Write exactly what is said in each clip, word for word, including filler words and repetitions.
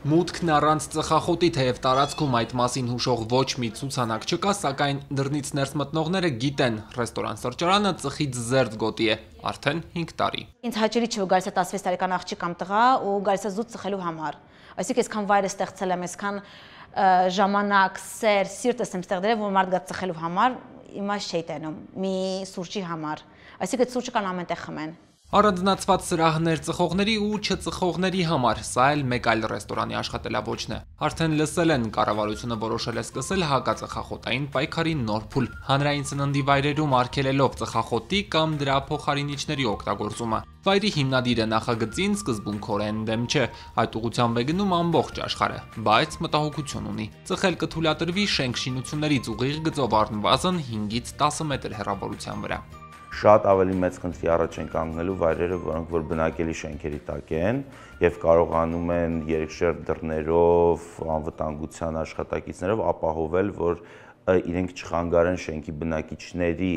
Մուտքն առանց ծխախոտի, թեև տարածքում այդ մասին հուշող ոչ մի ցուցանակ չկա, սակայն դռնից ներս մտնողները գիտեն, ռեստորան-սրճարանը ծխից զերծ գոտի է, արդեն հինգ տարի։ Ինձ հաճելի չի, որ գալիս է տասնվեց տարեկան աղջիկ կամ տղա ու գալիս է զուտ ծխելու համար։ Այսինքն այսքան վայր ստեղծել եմ, այսքան ժամանակ, սեր, սիրտ եմ ստեղծել, որ մարդ գա ծխելու համար, իմաստ չի տենում մի սուրճի համար։ Այսինքն այդ սուրճը կան ամենտեղ խմեն։ Առանձնացված սրահներ ծխողների ու չծխողների համար, սա էլ մեկ այլ ռեստորանի աշխատելավոճն է։ Արդեն լսել են, կառավարությունը որոշել է սկսել հակածխախոտային պայքարի նոր փուլ, հանրային սննդի վայրերում արգելելով ծխախոտի կամ դրա փոխարինիչների օգտագործումը։ Վայրի հիմնադիրը նախագծին սկզբունքորեն դեմ չէ, այդ ուղղությամբ է գնում ամբողջ աշխարհը, բայց մտահոգություն ունի։ Ծխել կթույլատրվի շենք-շինություններից ուղիղ գծով առնվազն հինգից տասը մետր հեռավորության վրա։ Շատ ավելի մեծ խնդրի առաջ են կանգնելու վայրերը, որոնք որ բնակելի շենքերի տակ են եւ կարողանում են երկշերտ դռներով, անվտանգության աշխատակիցներով ապահովել, որ իրենք չխանգարեն շենքի բնակիչների,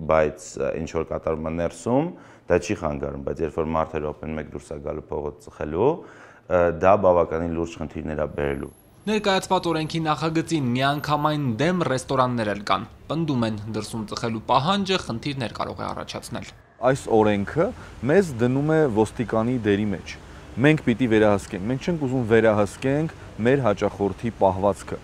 բայց ինչ որ կատարում է ներսում, դա չի խանգարում, բայց երբ որ մարդը րոպեն մեկ դուրս է գալու փողոց ծխելու, դա բավականին լուրջ խնդիրներ է բերելու։ Ներկայացված օրենքի նախագծին միանգամայն դեմ ռեստորաններ էլ կան, պնդում են դրսում ծխելու պահանջը խնդիրներ կարող է առաջացնել։ Այս օրենքը մեզ դնում է ոստիկանի դերի մեջ։ Մենք պիտի վերահսկենք, մենք չենք ուզում վերահսկենք մեր հաճախորդի պահվածքը։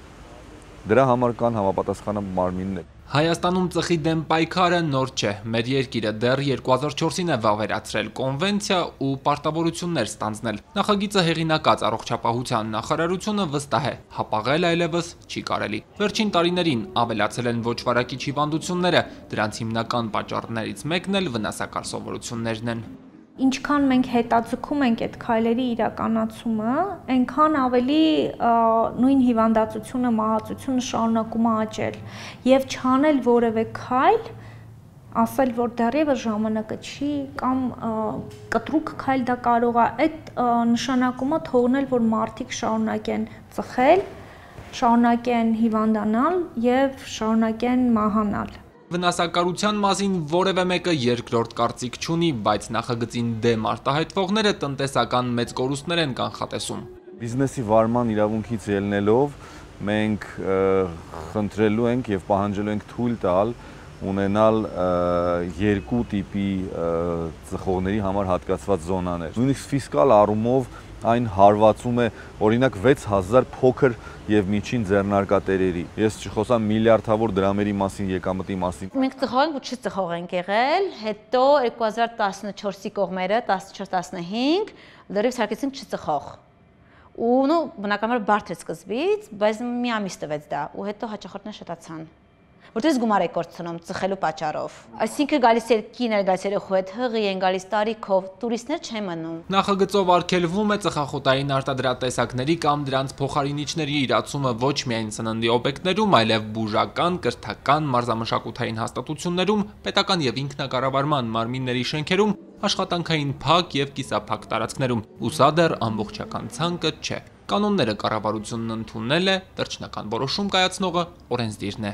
Դրա համար կան համապատասխան մարմիններ։ Հայաստանում ծխի դեմ պայքարը նոր չէ, մեր երկիրը դեռ երկու հազար չորսին է վավերացրել կոնվենցիա ու պարտավորություններ ստանձնել։ Նախագիծը հեղինակած առողջապահության նախարարությունը վստահ է, հապաղել այլևս չի կարելի։ Վերջին տարիներին ավելացել են ոչ վարակիչ հիվանդությունները, դրանց հիմնական պատճառներից մեկն էլ վնասակար սովորություններն են։ Ինչքան մենք հետաձգում ենք այդ քայլերի իրականացումը, այնքան ավելի նույն հիվանդացությունը, մահացությունը շարունակում է աճել եւ չանել որևէ քայլ, ասել, որ դեռևս ժամանակը չի կամ կտրուկ քայլ դա կարող է այդ նշանակումը թողնել, որ մարդիկ շարունակեն ծխել, շարունակեն հիվանդանալ եւ շարունակեն մահանալ։ Վնասակարության մասին որևէ մեկը երկրորդ կարծիք չունի, բայց նախագծին դեմ արտահայտվողները տնտեսական մեծ կորուստներ են կանխատեսում։ Բիզնեսի վարման իրավունքից ելնելով մենք խնդրելու ենք եւ պահանջելու ենք թույլ տալ ունենալ երկու տիպի ծխողների համար հատկացված զոնաներ։ Նույնիսկ ֆիսկալ առումով այն հարվածում է օրինակ վեց հազար փոքր եւ միջին ձեռնարկատերերի։ Ես չխոսամ միլիարդավոր դրամերի մասին, եկամտի մասին։ Մենք ծխող ենք ու չծխող ենք եղել, հետո երկու հազար տասնչորսի կողմերը, տասնչորս տասնհինգ, լրիվ ցարկեցինք չծխող։ Ու նո բնականաբար բարդ է սկզբից, բայց մի ամիս տվեց դա, ու հետո հաճախորդները շատացան։ Որտես գումար է կորցնում ծխելու պատճառով։ Այսինքն գալիս էր կին, գալիս էր խոհետ հղի են, գալիս տարիքով, տուրիստներ չեն մնում։ Նախագծով արգելվում է ծխախոտային արտադրատեսակների կամ դրանց փոխարինիչների իրացումը ոչ միայն սննդի օբյեկտներում, այլև բուժական, կրթական, մարզամշակութային հաստատություններում, պետական եւ ինքնակառավարման մարմինների շենքերում, աշխատանքային փակ եւ կիսափակ տարածքներում։ Ու սա դեռ ամբողջական ցանկը չէ։ Կանոնները կառավարությունն ընդունել է, վերջնական որոշում կայացնողը օրենսդիրն է։